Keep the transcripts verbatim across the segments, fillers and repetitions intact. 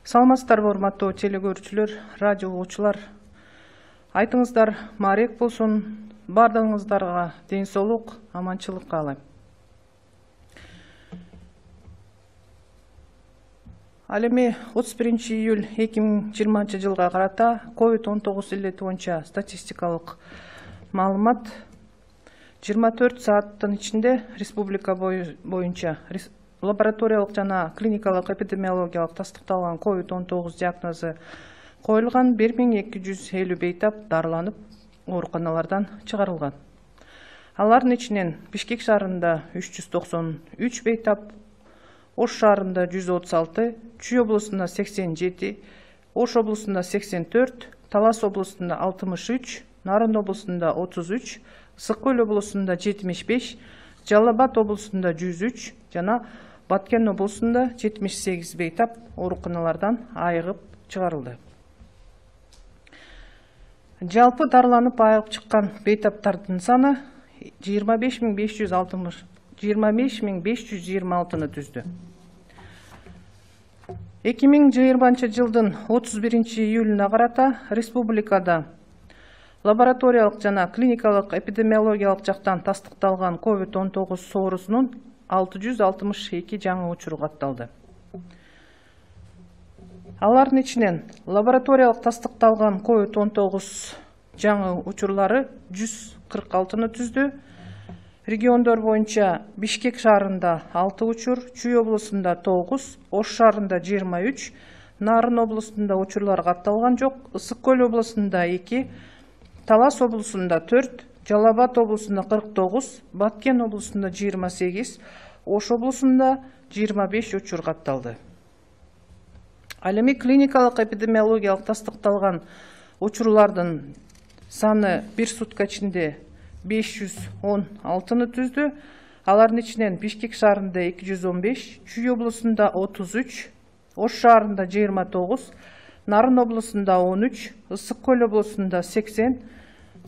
Саламатсыздарбы, урматтуу телекөрүүчүлөр, радио угуучулар. Айтыңыздар маарек болсун, бардыгыңыздарга ден соолук, аманчылык каалайм. Ал эми отуз биринчи июль эки миң жыйырманчы жылга карата ковид он тогуз илдети боюнча статистикалык маалымат жыйырма төрт сааттын ичинде республика боюнча лабораториялык жана клиникалык эпидемиологиялык тастыкталган ковид он тогуз диагнозу коюлган бир миң эки жүз элүү бейтап дарыланып ооруканалардан чыгарылган. Алардын ичинен Бишкек шаарында үч жүз токсон үч бейтап, Ош шаарында жүз отуз алты, Чүй облусунда сексен жети, Ош облусунда сексен төрт, Талас облусунда алтымыш үч, Нарын облусунда отуз үч, Ысык Көл облусунда жетимиш беш, Жалал Абад облусунда жүз үч жана Баткен облусунда жетимиш сегиз бейтап ооруканалардан айыгып чыгарылды. Жалпы дарыланып айыгып чыккан бейтаптардын саны жыйырма беш миң беш жүз алтымыш жыйырма беш миң беш жүз жыйырма алтыны түздү. эки миң жыйырманчы жылдын отуз биринчи июлуна карата республикада лабораториялык жана клиникалык эпидемиологиялык жактан тастыкталган ковид он тогуз соорусунун алты жүз алтымыш эки жаңы учуру катталды. Алардын ичинен лабораториялык тастыкталган ковид он тогуз жаңы учурлары жүз кырк алтыны түздү. Региондор боюнча Бишкек шаарында алты учур, Чүй облусунда тогуз, Ош шаарында жыйырма үч, Нарын облусунда учурлар катталган жок, Ысык Көл облусунда эки, Талас облусунда төрт, Жалал Абад облусунда кырк тогуз, Баткен облусунда жыйырма сегиз, Ош облусунда жыйырма беш учур катталды. Ал эми клиникалык эпидемиологиялык тастыкталган учурлардын саны бир сутка ичинде беш жүз он алтыны түздү. Алардын ичинен Бишкек шаарында эки жүз он беш, Чүй облусунда отуз үч, Ош шаарында жыйырма тогуз, Нарын облусунда он үч, Ысык Көл облусунда сексен,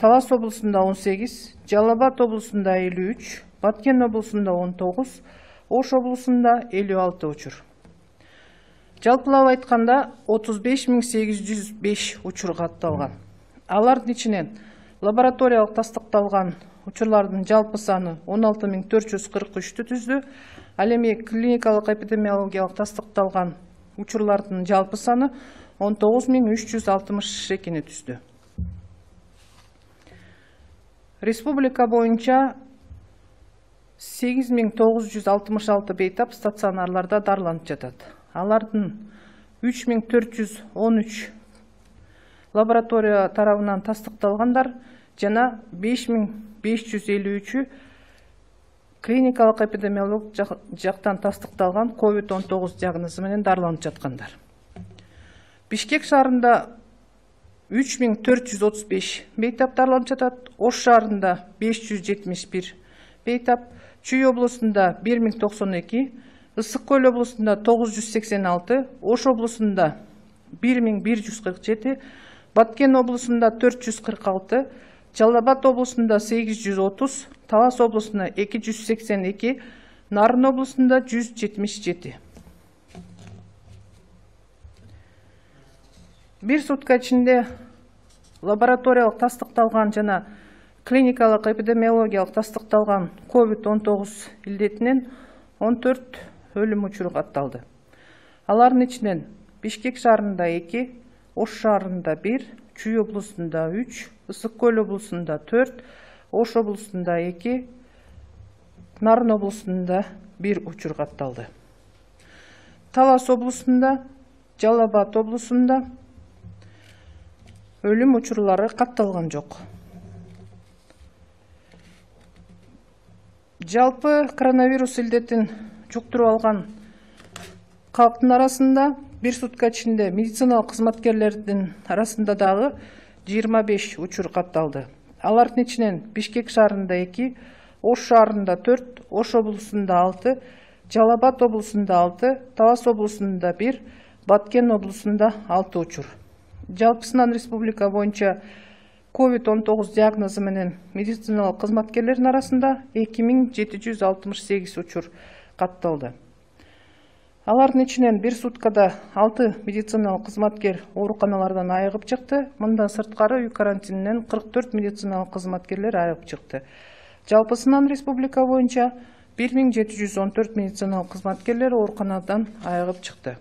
Талас облусунда он сегиз, Жалал Абад облусунда элүү үч, Баткен облусунда он тогуз, Ош облусунда элүү алты учур. Жалпылап айтканда отуз беш миң сегиз жүз беш учур катталган. Алардын ичинен лабораториялык тастыкталган учурлардын жалпы саны он алты миң төрт жүз кырк үчтү түздү. Ал эми клиникалык эпидемиологиялык тастыкталган учурлардын жалпы саны он тогуз миң үч жүз алтымыш экини түздү. Республика боюнча сегиз миң тогуз жүз алтымыш алты бейтап стационарларда дарыланып жатат. Алардын үч миң төрт жүз он үч лаборатория тарабынан тастыкталгандар жана беш миң беш жүз элүү үчү клиникалык эпидемиологиялык жактан тастыкталган ковид он тогуз диагнозу менен дарыланып жаткандар. Бишкек шаарында үч миң төрт жүз отуз беш бейтап дарыланып жатат, Ош шаарында беш жүз жетимиш бир бейтап, Чүй облусунда бир миң токсон эки, Ысык Көл облусунда тогуз жүз сексен алты, Ош облусунда бир миң бир жүз кырк жети, Баткен облусунда төрт жүз кырк алты, Жалал Абад облусунда сегиз жүз отуз, Талас облусунда эки жүз сексен эки, Нарын облусунда жүз жетимиш жети. Бир сутка ичинде лабораториялык тастыкталган жана клиникалык эпидемиологиялык тастыкталган ковид он тогуз илдетинен он төрт өлүм учуру катталды. Алардын ичинен Бишкек шаарында эки, Ош шаарында бир, Чүй облусунда үч, Ысык Көл облусунда төрт, Ош облусунда эки, Нарын облусунда бир учур катталды. Талас облусунда, Жалал Абад облусунда өлүм учурлары катталган жок. Жалпы коронавирус илдетин жуктуруп алган калктын арасында бир сутка ичинде медициналык кызматкерлердин арасында дагы жыйырма беш учур катталды. Алардын ичинен Бишкек шаарында эки, Ош шаарында төрт, Ош облусунда алты, Жалал Абад облусунда алты, Талас облусунда бир, Баткен облусунда алты учур. Жалпысынан республика боюнча ковид он тогуз диагнозу менен медициналык кызматкерлердин арасында эки миң жети жүз алтымыш сегиз учур катталды. Алардын ичинен бир суткада алты медициналык кызматкер ооруканалардан айыгып чыкты. Мындан сырткары үй карантининен кырк төрт медициналык кызматкерлер айыгып чыкты. Жалпысынан республика боюнча бир миң жети жүз он төрт медициналык кызматкерлер ооруканадан айыгып чыкты.